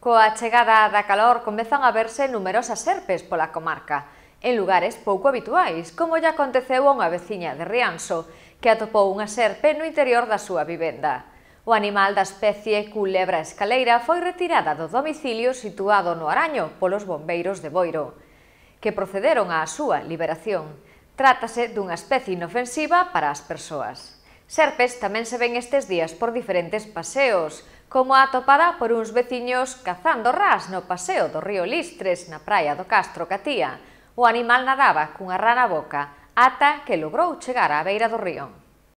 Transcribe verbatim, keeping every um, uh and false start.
Coa chegada da calor comezan a verse numerosas serpes pola comarca, en lugares pouco habituais, como lle aconteceu a unha veciña de Rianxo, que atopou unha serpe no interior da súa vivenda. O animal da especie culebra escaleira foi retirada do domicilio situado no Araño polos bombeiros de Boiro, que procederon á súa liberación. Trátase dunha especie inofensiva para as persoas. Serpes tamén se ven estes días por diferentes paseos, como a atopada por uns veciños cazando ras no paseo do río Listres, na praia do Castro Catía. O animal nadaba cunha rana boca ata que logrou chegar á beira do río.